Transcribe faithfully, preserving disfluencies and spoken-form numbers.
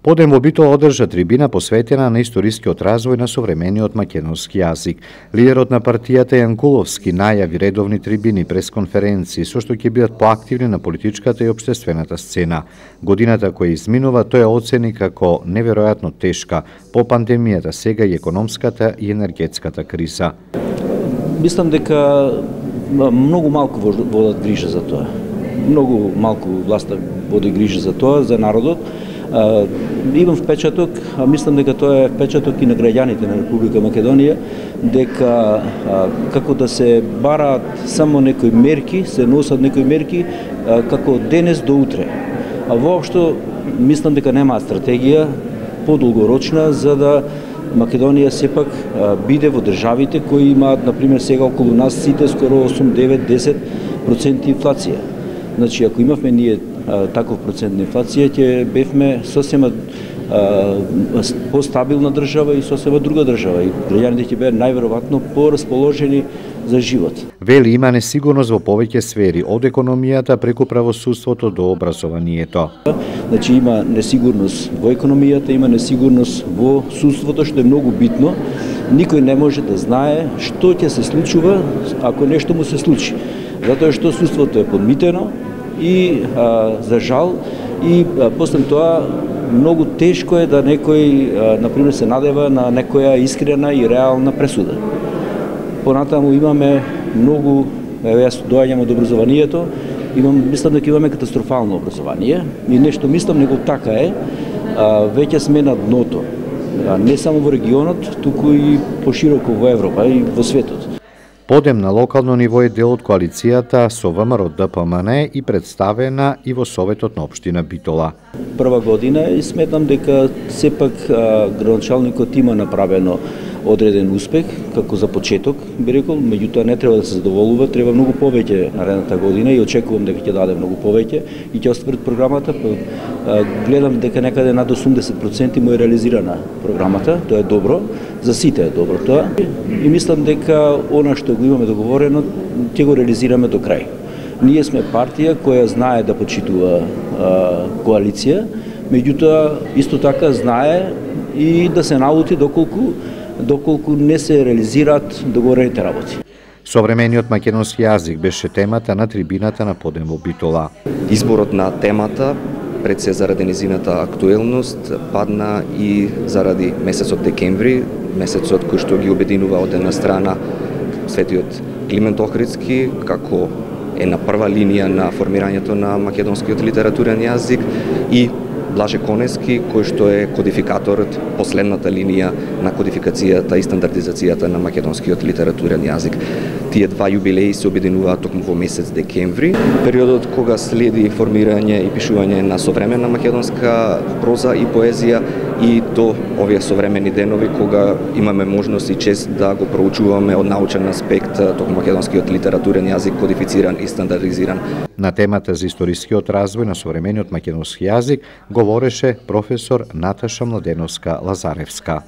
Подем во Битола одржа трибина посветена на историскиот развој на современиот македонски јазик. Лидерот на партијата Јанкуловски најави редовни трибини, пресконференции, со што ќе бидат поактивни на политичката и општествената сцена. Годината која изминува тој оцени како неверојатно тешка по пандемијата, сега и економската и енергетската криза. Мислам дека многу малку водат грижа за тоа. Многу малку власта води грижа за тоа, за народот. Uh, имам впечаток, а мислам дека тоа е впечаток и на граѓаните на Република Македонија, дека uh, како да се бараат само некои мерки, се носат некои мерки uh, како денес до утре. А воопшто мислам дека немаат стратегија подолгорочна за да Македонија сепак uh, биде во државите кои имаат, например, сега околу нас сите скоро осум, девет, десет проценти инфлација. Значи, ако имавме ние а, таков процент на инфлација, ќе бевме сосема постабилна држава и сосема друга држава. И граѓаните ќе беа најверојатно порасположени за живот. Вели има несигурност во повеќе сфери, од економијата преку правосудството до образованието. Значи има несигурност во економијата, има несигурност во судството, што е многу битно. Никој не може да знае што ќе се случува ако нешто му се случи. Затоа што судството е подмитено и а, за жал и а, после тоа многу тешко е да некој а, например се надева на некоја искрена и реална пресуда. Понатаму имаме многу, еве јас доаѓам од образованието, имам мислам дека имаме катастрофално образование и нешто мислам него така е, а, веќе сме на дното. А, не само во регионот, туку и пошироко во Европа и во светот. Подем на локално ниво е дел од коалицијата со ВМРО Д П М Н и представена и во Советот на општина Битола. Прва година и сметам дека сепак градоначалникот има направено одреден успех, како за почеток, би рекол, меѓутоа не треба да се задоволува, треба многу повеќе наредната година и очекувам дека ќе даде многу повеќе и ќе оствари програмата. Гледам дека некаде над осумдесет проценти му е реализирана програмата, тоа е добро, за сите е добро тоа и мислам дека она што го имаме договорено ќе го реализираме до крај. Ние сме партија која знае да почитува а, коалиција, меѓутоа исто така знае и да се наути доколку доколку не се реализираат договорените работи. Современиот македонски јазик беше темата на трибината на Подем во Битола. Изборот на темата пред се заради незината актуелност падна и заради месецот декември, месецот кој што ги обединува од една страна светиот Климент Охридски како е на прва линија на формирањето на македонскиот литературен јазик и Блаже Конески, кој што е кодификаторот, последната линија на кодификацијата и стандардизацијата на македонскиот литературен јазик. Тие два јубилеи се обединуваат токму во месец декември, периодот кога следи формирање и пишување на современа македонска проза и поезија и до овие современи денови кога имаме можност и чест да го проучуваме од научен аспект токму македонскиот литературен јазик кодифициран и стандардизиран. На темата за историскиот развој на современиот македонски јазик говореше професор Наташа Младеновска Лазаревска.